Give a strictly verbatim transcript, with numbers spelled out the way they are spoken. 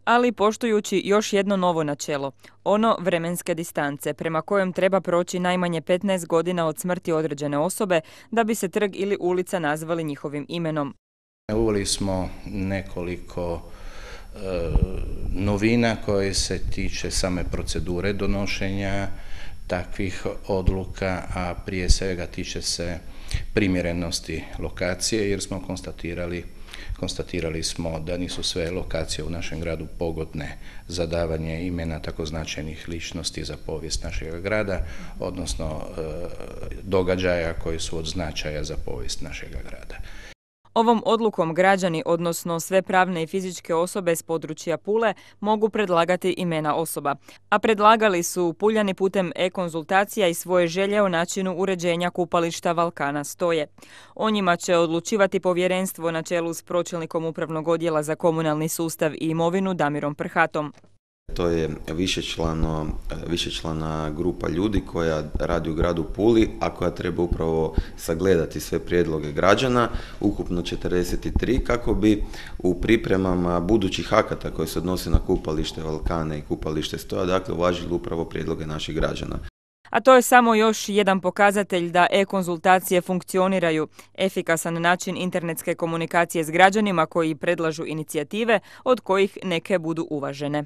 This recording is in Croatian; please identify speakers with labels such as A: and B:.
A: ali poštujući još jedno novo načelo, ono vremenske distance, prema kojem treba proći najmanje petnaest godina od smrti određene osobe da bi se trg ili ulica nazvali njihovim imenom.
B: Uveli smo nekoliko e, novina koje se tiče same procedure donošenja takvih odluka, a prije svega tiče se primjerenosti lokacije, jer smo konstatirali, konstatirali smo da nisu sve lokacije u našem gradu pogodne za davanje imena tako značajnih ličnosti za povijest našeg grada, odnosno e, događaja koji su od značaja za povijest našeg grada.
A: Ovom odlukom građani, odnosno sve pravne i fizičke osobe s područja Pule, mogu predlagati imena osoba, a predlagali su Puljani putem e-konzultacija i svoje želje o načinu uređenja kupališta Valkana stoje. O njima će odlučivati povjerenstvo na čelu s pročelnikom Upravnog odjela za komunalni sustav i imovinu Damirom Prhatom.
C: To je višečlano, višečlana grupa ljudi koja radi u gradu Puli, a koja treba upravo sagledati sve prijedloge građana, ukupno četrdeset tri, kako bi u pripremama budućih akata koji se odnose na kupalište Valkane i kupalište Stoja, dakle uvažili upravo prijedloge naših građana.
A: A to je samo još jedan pokazatelj da e-konzultacije funkcioniraju, efikasan način internetske komunikacije s građanima koji predlažu inicijative, od kojih neke budu uvažene.